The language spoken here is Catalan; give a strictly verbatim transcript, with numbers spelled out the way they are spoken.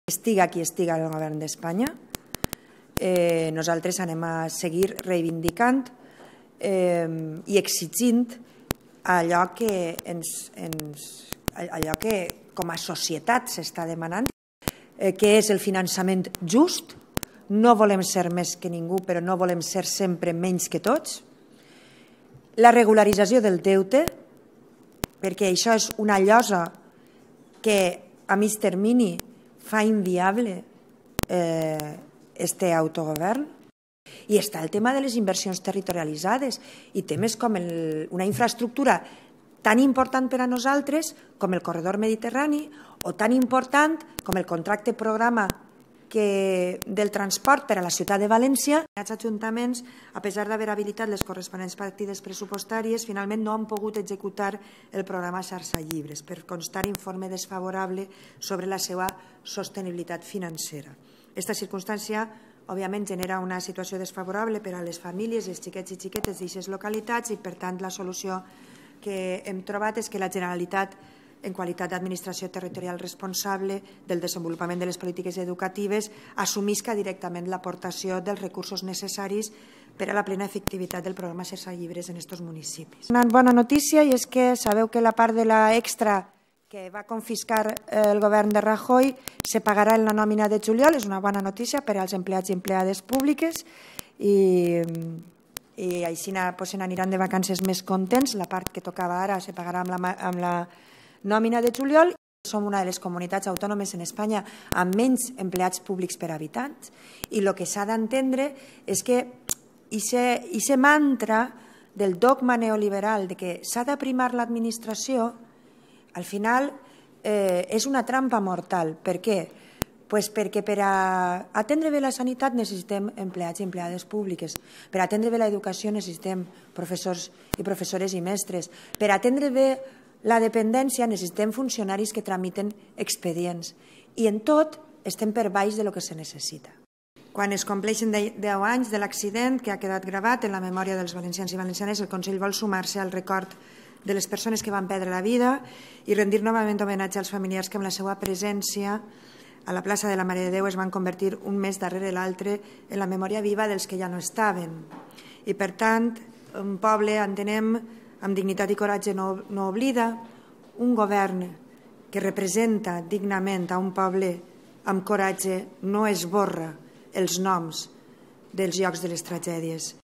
Estiga qui estiga el govern d'Espanya, eh, nosaltres anem a seguir reivindicant eh, i exigint allò que, ens, ens, allò que com a societat s'està demanant, eh, que és el finançament just. No volem ser més que ningú, però no volem ser sempre menys que tots. La regularització del deute, perquè això és una llosa que a mig termini fa inviable eh, este autogovern. I està el tema de les inversions territorialitzades i temes com el, una infraestructura tan important per a nosaltres com el corredor mediterrani o tan important com el contracte programa que del transport per a la ciutat de València. Els ajuntaments, a pesar d'haver habilitat les corresponents partides pressupostàries, finalment no han pogut executar el programa Xarxa Llibres per constar informe desfavorable sobre la seva sostenibilitat financera. Aquesta circumstància, òbviament, genera una situació desfavorable per a les famílies, els xiquets i xiquetes d'aquestes localitats i, per tant, la solució que hem trobat és que la Generalitat, en qualitat d'administració territorial responsable del desenvolupament de les polítiques educatives, assumisca directament l'aportació dels recursos necessaris per a la plena efectivitat del programa Xarxa Llibres en aquests municipis. Una bona notícia i és que sabeu que la part de la extra que va confiscar el govern de Rajoy se pagarà en la nòmina de juliol. És una bona notícia per als empleats i empleades públiques i, i així pues, se n'aniran de vacances més contents. La part que tocava ara se pagarà amb la, amb la nòmina de juliol. Som una de les comunitats autònomes en Espanya amb menys empleats públics per habitants i el que s'ha d'entendre és que aquest mantra del dogma neoliberal de que s'ha de primar l'administració al final eh, és una trampa mortal. Per què? Pues perquè per a atendre bé la sanitat necessitem empleats i empleades públiques. Per a atendre bé l'educació necessitem professors i professores i mestres. Per a atendre bé la dependència necessitem funcionaris que tramiten expedients. I en tot estem per baix de lo que se necessita. Quan es compleixen deu anys de l'accident que ha quedat gravat en la memòria dels valencians i valencianes, el Consell vol sumar-se al record de les persones que van perdre la vida i rendir novament homenatge als familiars que amb la seva presència a la plaça de la Mare de Déu es van convertir un mes darrere l'altre en la memòria viva dels que ja no estaven. I per tant, un poble, entenem, amb dignitat i coratge no, no oblida, un govern que representa dignament a un poble amb coratge no esborra els noms dels llocs de les tragèdies.